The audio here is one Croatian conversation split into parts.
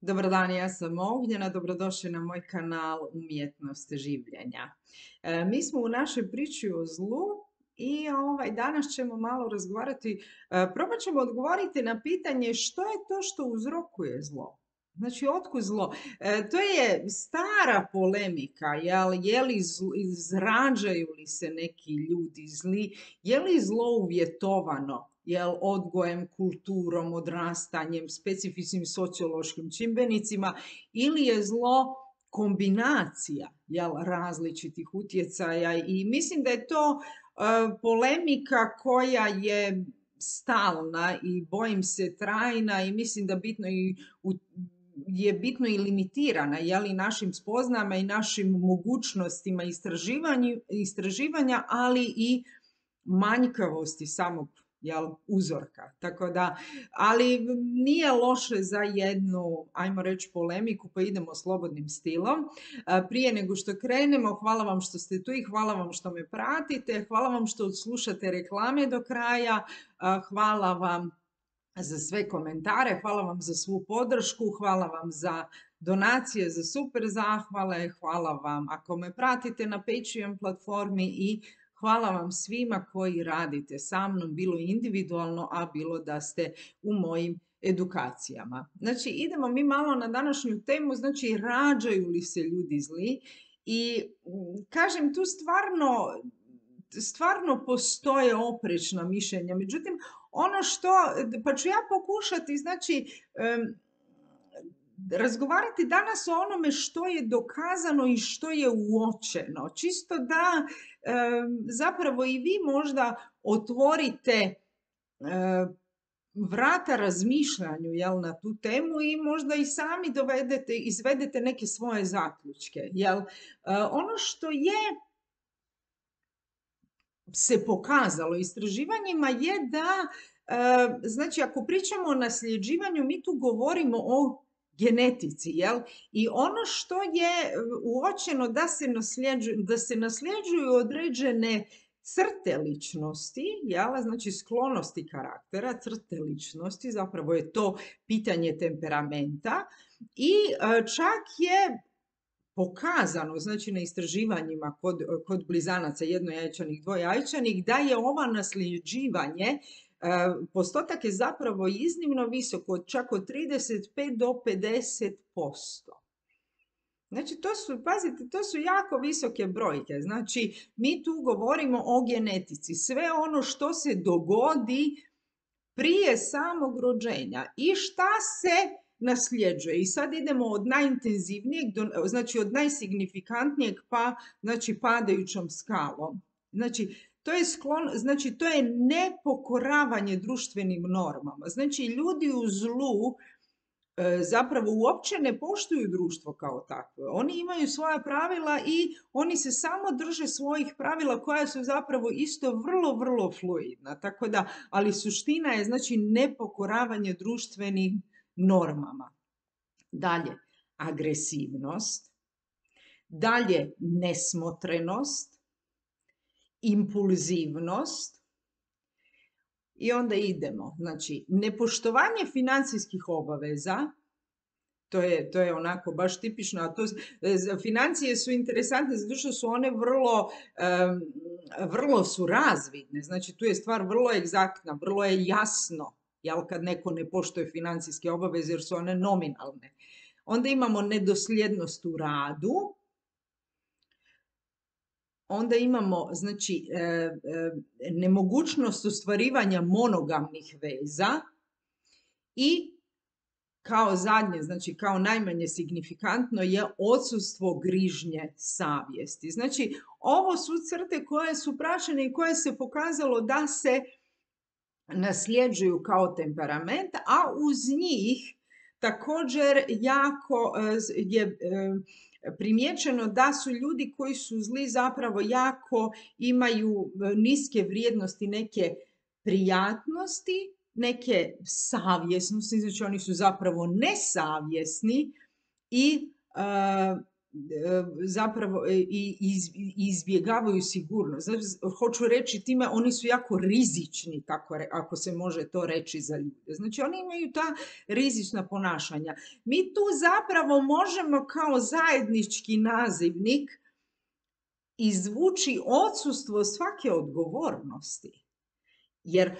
Dobar dan, ja sam Ognjena, dobrodošli na moj kanal Umjetnost življenja. Mi smo u našoj priči o zlu i danas ćemo malo razgovarati, probat ćemo odgovoriti na pitanje što je to što uzrokuje zlo. Znači, otkud zlo? To je stara polemika, izrađaju li se neki ljudi zli, je li zlo uvjetovano odgojem, kulturom, odrastanjem, specifičnim sociološkim čimbenicima ili je zlo kombinacija različitih utjecaja i mislim da je to polemika koja je stalna i bojim se trajna i mislim da je bitno i limitirana našim spoznama i našim mogućnostima istraživanja, ali i manjkavosti samog uzorka. Tako da, ali nije loše za jednu, ajmo reći, polemiku, pa idemo slobodnim stilom. Prije nego što krenemo, hvala vam što ste tu i hvala vam što me pratite, hvala vam što slušate reklame do kraja, hvala vam za sve komentare, hvala vam za svu podršku, hvala vam za donacije, za super zahvale, hvala vam ako me pratite na Patreon platformi i hvala vam svima koji radite sa mnom, bilo individualno, a bilo da ste u mojim edukacijama. Znači, idemo mi malo na današnju temu, znači, rađaju li se ljudi zli? I kažem, tu stvarno postoje oprečna mišljenja. Međutim, pa ću ja pokušati, znači, razgovarati danas o onome što je dokazano i što je uočeno. Čisto da zapravo i vi možda otvorite vrata razmišljanju na tu temu i možda i sami izvedete neke svoje zaključke. Ono što je se pokazalo istraživanjima je da, znači, ako pričamo o nasljeđivanju, mi tu govorimo o genetici, I ono što je uočeno da se nasljeđuju određene crte ličnosti, znači sklonosti karaktera, crte ličnosti, zapravo je to pitanje temperamenta i čak je pokazano, znači na istraživanjima kod blizanaca jednojajčanih, dvojajčanih, da je ovo nasljeđivanje, postotak je zapravo iznimno visoko, čak od 35 do 50%. Znači, pazite, to su jako visoke brojke. Znači, mi tu govorimo o genetici. Sve ono što se dogodi prije samog rođenja i šta se nasljeđuje. I sad idemo od najintenzivnijeg, znači od najsignifikantnijeg pa, znači, padajućom skalom. Znači, to je nepokoravanje društvenim normama. Znači, ljudi u zlu zapravo uopće ne poštuju društvo kao takvo. Oni imaju svoja pravila i oni se samo drže svojih pravila koja su zapravo isto vrlo, vrlo fluidna. Tako da, ali suština je, znači, nepokoravanje društvenim normama. Dalje, agresivnost. Dalje, nesmotrenost. Impulzivnost. I onda idemo. Znači, nepoštovanje financijskih obaveza, to je onako baš tipično, a financije su interesantne zato što su one vrlo su razvidne. Znači, tu je stvar vrlo egzaktna, vrlo je jasno, kad neko ne poštuje financijske obaveze jer su one nominalne. Onda imamo nedosljednost u radu. Onda imamo, znači, nemogućnost ostvarivanja monogamnih veza i kao zadnje, znači kao najmanje signifikantno je odsustvo grižnje savjesti. Znači, ovo su crte koje su praćene i koje se pokazalo da se nasljeđuju kao temperament, a uz njih također jako je primijećeno da su ljudi koji su zli zapravo jako imaju niske vrijednosti neke prijatnosti, neke savjesnosti, znači oni su zapravo nesavjesni i zapravo izbjegavaju sigurnost. Znači, hoću reći time, oni su jako rizični, ako se može to reći za ljude. Znači, oni imaju ta rizična ponašanja. Mi tu zapravo možemo kao zajednički nazivnik izvući odsustvo svake odgovornosti. Jer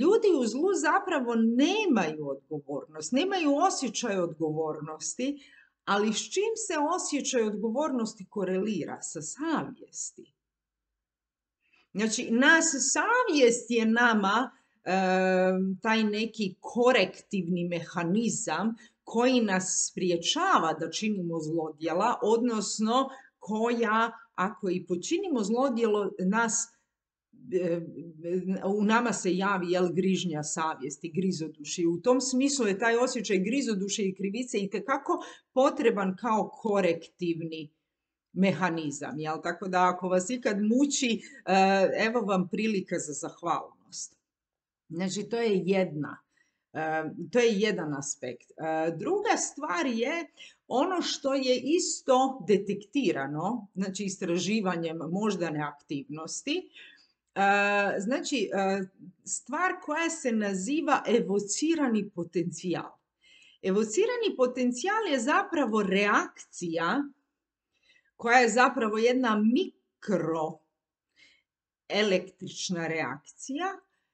ljudi u zlu zapravo nemaju odgovornost, nemaju osjećaj odgovornosti, ali s čim se osjećaj odgovornosti korelira? Sa savjesti. Znači, savjest je nama taj neki korektivni mehanizam koji nas spriječava da činimo zlodjela, odnosno koja, ako i počinimo zlodjelo, u nama se javi grižnja savjesti, grizodušje. U tom smislu je taj osjećaj grizodušje i krivice itekako potreban kao korektivni mehanizam. Jel? Tako da ako vas ikad muči, evo vam prilika za zahvalnost. Znači, to je jedan aspekt. Druga stvar je ono što je isto detektirano, znači istraživanjem moždane aktivnosti, znači stvar koja se naziva evocirani potencijal. Evocirani potencijal je zapravo reakcija koja je zapravo jedna mikroelektrična reakcija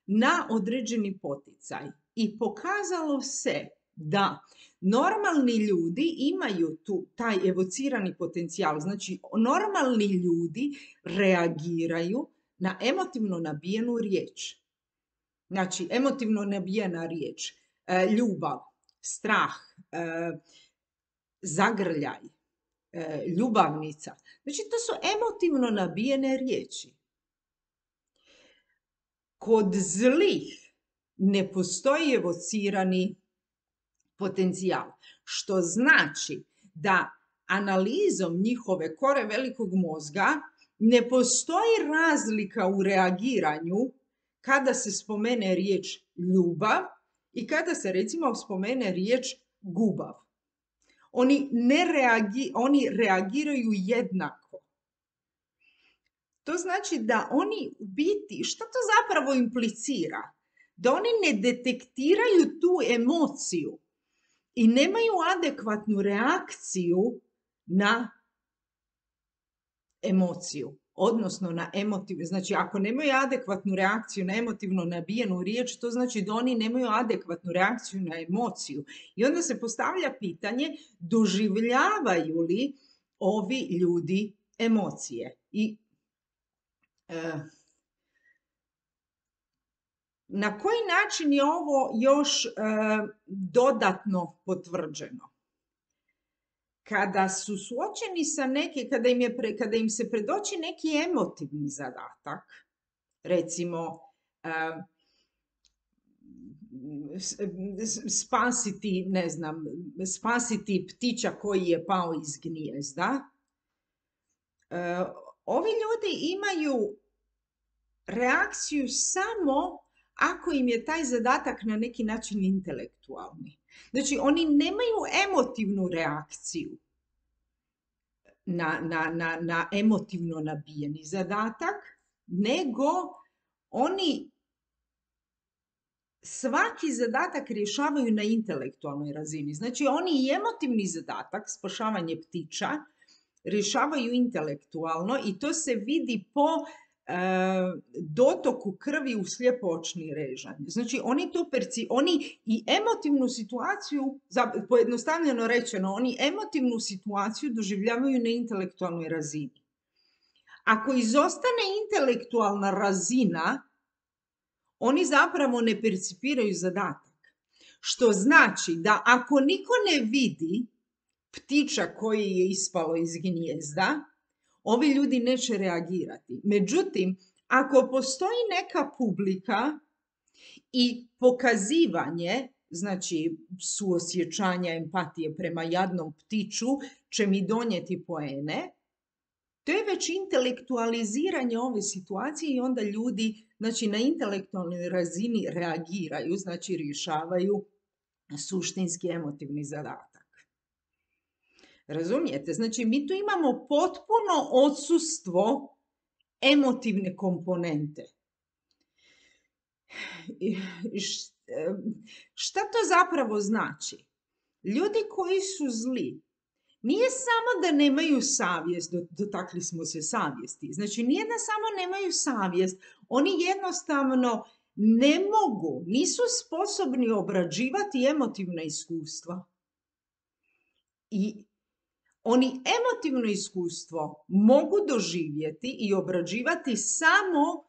na određeni poticaj. I pokazalo se da normalni ljudi imaju taj evocirani potencijal. Znači, normalni ljudi reagiraju na emotivno nabijenu riječ. Znači, emotivno nabijena riječ, ljubav, strah, zagrljaj, ljubavnica. Znači, to su emotivno nabijene riječi. Kod zlih ne postoji evocirani potencijal, što znači da analizom njihove kore velikog mozga ne postoji razlika u reagiranju kada se spomene riječ ljubav i kada se recimo spomene riječ gubav. Oni reagiraju jednako. To znači da oni u biti, što to zapravo implicira? Da oni ne detektiraju tu emociju i nemaju adekvatnu reakciju na emociju, odnosno na emotivnu. Znači, ako nemaju adekvatnu reakciju na emotivno nabijenu riječ, to znači da oni nemaju adekvatnu reakciju na emociju. I onda se postavlja pitanje, doživljavaju li ovi ljudi emocije? I na koji način je ovo još dodatno potvrđeno? Kada su suočeni sa kada im se predoči neki emotivni zadatak, recimo spasiti ptića koji je pao iz gnijezda, ovi ljudi imaju reakciju samo ako im je taj zadatak na neki način intelektualni. Znači, oni nemaju emotivnu reakciju na emotivno nabijeni zadatak, nego oni svaki zadatak rješavaju na intelektualnoj razini. Znači, oni i emotivni zadatak, spašavanje ptića, rješavaju intelektualno i to se vidi po dotoku krvi u slijepo-očni režanj. Znači, oni i emotivnu situaciju, pojednostavljeno rečeno, oni emotivnu situaciju doživljavaju na intelektualnoj razini. Ako izostane intelektualna razina, oni zapravo ne percipiraju zadatak. Što znači da ako niko ne vidi ptića koji je ispalo iz gnijezda, ovi ljudi neće reagirati. Međutim, ako postoji neka publika i pokazivanje, znači suosjećanja, empatije prema jadnom ptiću, će mi donijeti poene, to je već intelektualiziranje ove situacije i onda ljudi, znači, na intelektualnoj razini reagiraju, znači rješavaju suštinski emotivni zadatak. Razumijete? Znači, mi tu imamo potpuno odsustvo emotivne komponente. I šta to zapravo znači? Ljudi koji su zli, nije samo da nemaju savjest, dotakli smo se savjesti, znači nije da samo nemaju savjest, oni jednostavno ne mogu, nisu sposobni obrađivati emotivna iskustva. I oni emotivno iskustvo mogu doživjeti i obrađivati samo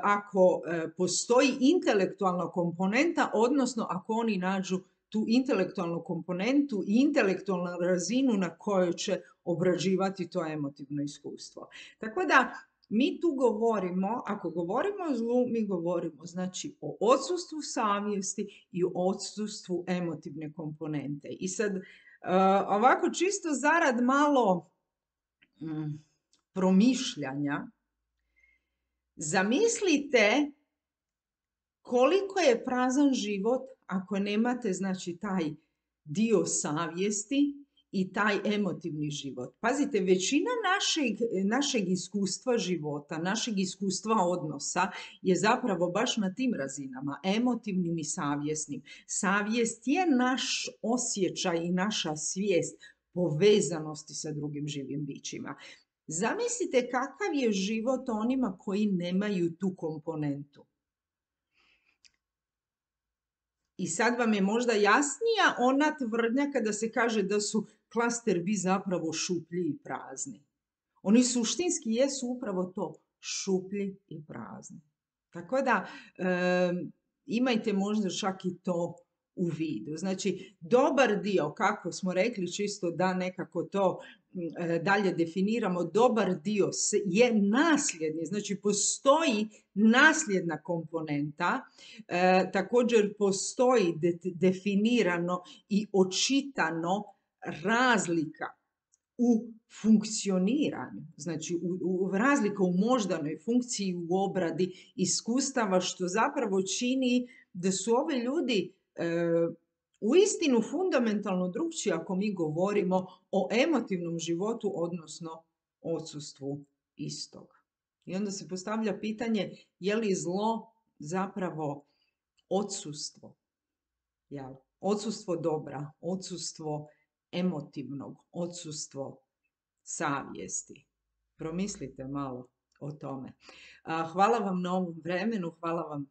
ako postoji intelektualna komponenta, odnosno ako oni nađu tu intelektualnu komponentu i intelektualnu razinu na kojoj će obrađivati to emotivno iskustvo. Tako da mi tu govorimo, ako govorimo o zlu, mi govorimo znači o odsustvu savjesti i o odsustvu emotivne komponente. I sad ovako čisto zarad malo promišljanja, zamislite koliko je prazan život ako nemate znači taj dio savjesti i taj emotivni život. Pazite, većina našeg iskustva života, našeg iskustva odnosa je zapravo baš na tim razinama, emotivnim i savjesnim. Savjest je naš osjećaj i naša svijest povezanosti sa drugim živim bićima. Zamislite kakav je život onima koji nemaju tu komponentu. I sad vam je možda jasnija ona tvrdnja kada se kaže da su klaster B zapravo šuplji i prazni. Oni suštinski jesu upravo to, šuplji i prazni. Tako da imajte možda čak i to u vidu. Znači, dobar dio, kako smo rekli, čisto da nekako to dalje definiramo, dobar dio je nasljedni, znači postoji nasljedna komponenta, također postoji definirano i očitano razlika u funkcioniranju, znači razlika u moždanoj funkciji, u obradi iskustava, što zapravo čini da su ovi ljudi uistinu fundamentalno drukčiji ako mi govorimo o emotivnom životu, odnosno odsustvu istog. I onda se postavlja pitanje, je li zlo zapravo odsustvo? Odsustvo dobra, odsustvo emotivnog, odsustvo savjesti. Promislite malo o tome. Hvala vam na ovom vremenu, hvala vam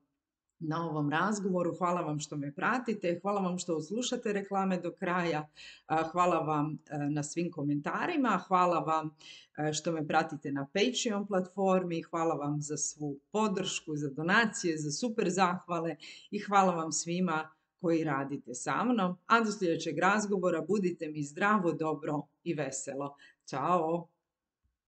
na ovom razgovoru, hvala vam što me pratite, hvala vam što slušate reklame do kraja, hvala vam na svim komentarima, hvala vam što me pratite na Patreon platformi, hvala vam za svu podršku, za donacije, za super zahvale i hvala vam svima koji radite sa mnom. A do sljedećeg razgovora budite mi zdravo, dobro i veselo. Ćao!